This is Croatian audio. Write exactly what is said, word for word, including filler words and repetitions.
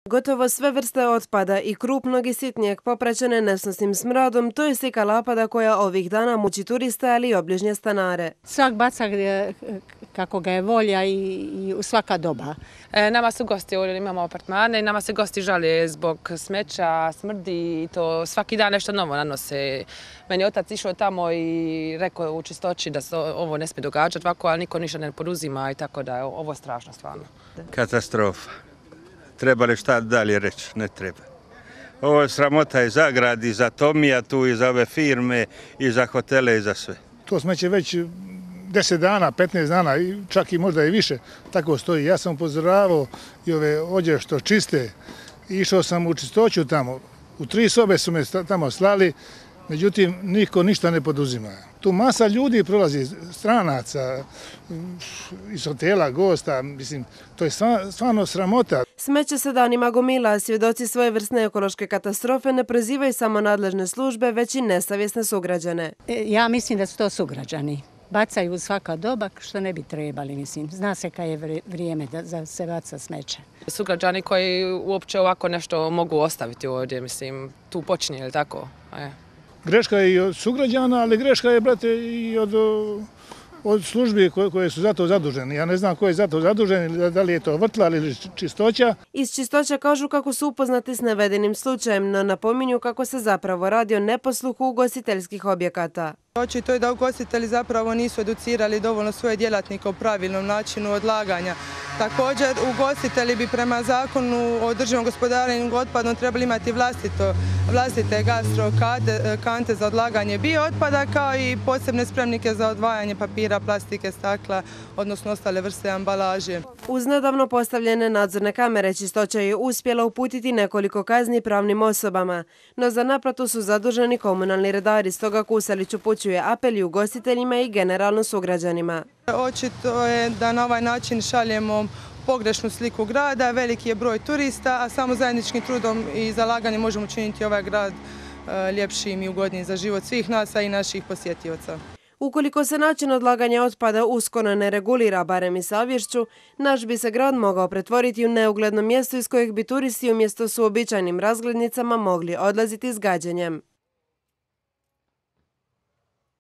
Gotovo sve vrste otpada i krupnog i sitnijeg popraćene nesnosnim smradom, to je slika Lapada koja ovih dana muči turiste, ali i obližnje stanare. Svak baca kako ga je volja i, i u svaka doba. E, nama su gosti, ovdje imamo apartmane i nama se gosti žale zbog smeća, smrdi i to svaki dan nešto novo nanose. Meni je otac išao tamo i rekao u čistoći da se ovo ne smije događati ovako, ali niko ništa ne poduzima i tako da je ovo strašno stvarno. Katastrofa. Treba li šta dalje reći? Ne treba. Ovo je sramota i za grad, i za Tomija tu, i za ove firme, i za hotele, i za sve. To smeće već deset dana, petnaest dana, čak i možda i više, tako stoji. Ja sam upozoravao i ove ođe što čiste, išao sam u čistoću tamo. U tri sobe su me tamo slali, međutim, niko ništa ne poduzima. Tu masa ljudi prolazi, stranaca, iz hotela, gosta, mislim, to je stvarno sramota. Smeće se danima gomila, a svjedoci svojevrsne ekološke katastrofe ne prozivaju samo nadležne službe, već i nesavjesne sugrađane. Ja mislim da su to sugrađani. Bacaju u svaka doba što ne bi trebali, mislim. Zna se kad je vrijeme da se baca smeće. Sugrađani koji uopće ovako nešto mogu ostaviti ovdje, mislim, tu počinje, ili tako? E. Greška je i od sugrađana, ali greška je, brate, i od, od službi koje, koje su za to zaduženi. Ja ne znam ko je za to zadužen, da li je to vrtlar ili čistoća. Iz čistoća kažu kako su upoznati s navedenim slučajem, no napominju kako se zapravo radi o neposluhu ugostiteljskih objekata. Očito je da ugostitelji zapravo nisu educirali dovoljno svoje djelatnike o pravilnom načinu odlaganja. Također, ugostitelji bi prema zakonu o održivom gospodarenju otpadom trebali imati vlastito, vlastite gastro kante za odlaganje biootpada, kao i posebne spremnike za odvajanje papira, plastike, stakla, odnosno ostale vrste ambalaže. Uz nedavno postavljene nadzorne kamere čistoća je uspjela uputiti nekoliko kazni pravnim osobama, no za naplatu su zaduženi komunalni redari, stoga Kuselić upućuje apel i ugostiteljima i generalno sugrađanima. Očito je da na ovaj način šaljemo pogrešnu sliku grada, veliki je broj turista, a samo zajedničkim trudom i zalaganjem možemo učiniti ovaj grad ljepšim i ugodnijim za život svih nas, a i naših posjetioca. Ukoliko se način odlaganja otpada uskoro ne regulira, barem i savješću, naš bi se grad mogao pretvoriti u neugledno mjesto iz kojeg bi turisti umjesto s uobičajenim razglednicama mogli odlaziti s gađenjem.